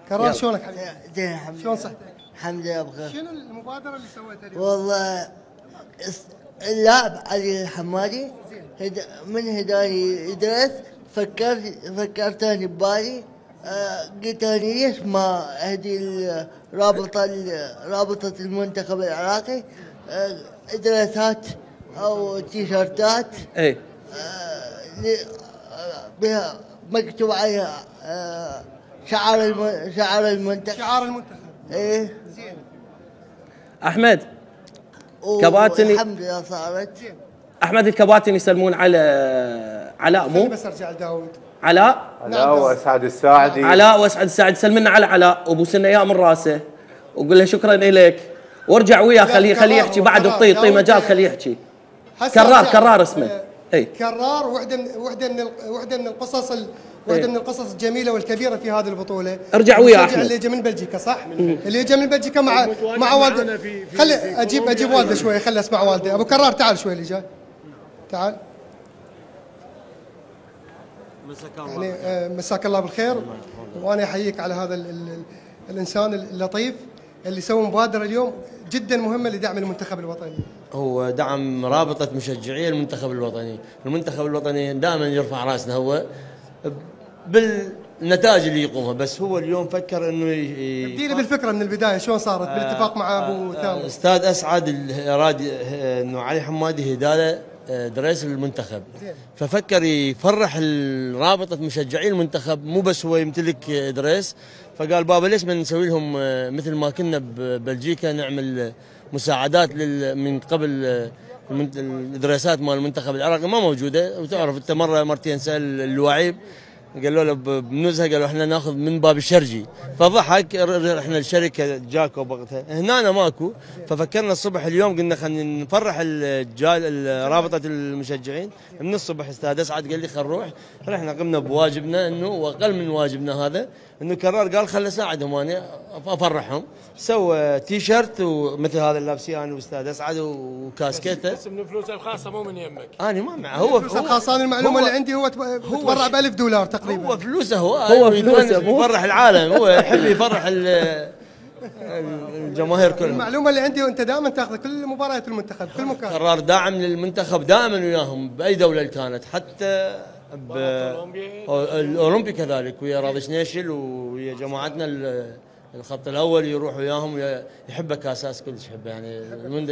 كرار شلونك حبيبي؟ زين الحمد شلون لله. صحتك؟ الحمد لله بخير. شنو المبادرة اللي سويتها اليوم؟ والله اللاعب علي الحمادي من هداني ادرس فكرت اني ببالي قلت اني ليش ما اهدي رابطة المنتخب العراقي ادرسات او تيشرتات اي بها مكتوب عليها شعار المنتخب. شعار المنتخب. ايه زين. احمد كباتن الحمد لله صارت. احمد الكباتن يسلمون على علاء مو بس ارجع لداود. علاء واسعد الساعدي. علاء واسعد الساعدي سلمنا على علاء وبوسنا اياه من راسه وقول له شكرا اليك وارجع وياه خليه يحكي بعد اعطيه مجال خليه يحكي. كرار اسمه. اي كرار وحده من القصص من القصص الجميله والكبيره في هذه البطوله. ارجع وياه احمد. اللي يجي من بلجيكا صح؟ اللي يجي من بلجيكا مع والده. خلي اجيب والده شوي خلي اسمع والده. ابو كرار تعال شوي اللي جاي. تعال. يعني مساك الله بالخير وانا احييك على هذا الانسان اللطيف اللي سوى مبادره اليوم جدا مهمه لدعم المنتخب الوطني. هو دعم رابطه مشجعي المنتخب الوطني، المنتخب الوطني دائما يرفع راسنا هو بالنتائج اللي يقومها، بس هو اليوم فكر انه ابدينا بالفكره من البدايه شلون صارت بالاتفاق مع ابو ثامر. استاذ اسعد اراد انه علي حمادي هداله دريس المنتخب، ففكر يفرح رابطه مشجعي المنتخب مو بس هو يمتلك دريس، فقال بابا ليش ما نسوي لهم مثل ما كنا ببلجيكا نعمل مساعدات من قبل الدراسات مال المنتخب العراقي ما موجوده، وتعرف انت مرتين سال اللواعيب قالوا له بنزهه قالوا احنا ناخذ من باب الشرجي، فضحك رحنا لشركه جاكو وقتها هنا ماكو، ففكرنا الصبح اليوم قلنا خلينا نفرح رابطه المشجعين من الصبح. استاذ اسعد قال لي خل نروح، رحنا قمنا بواجبنا انه واقل من واجبنا هذا انه كرار قال خل اساعدهم انا افرحهم، سوى تي شيرت ومثل هذا اللي لابسيه انا واستاذ اسعد وكاسكيته بس من فلوسه الخاصه مو من يمك. انا ما معه هو فلوسه الخاصه. انا المعلومه اللي عندي هو تبرع ب$1000 تقريبا. هو فلوسه هو فلوسه يفرح العالم، هو يحب يفرح الجماهير كلها. المعلومه اللي عندي وانت دائما تاخذ كل مباريات المنتخب كل مكان. قرار داعم للمنتخب دائما وياهم باي دوله كانت، حتى الاولمبي كذلك ويا راضي شنيشل ويا جماعتنا الخط الاول يروح وياهم، يحبه كاساس كلش يحبه يعني من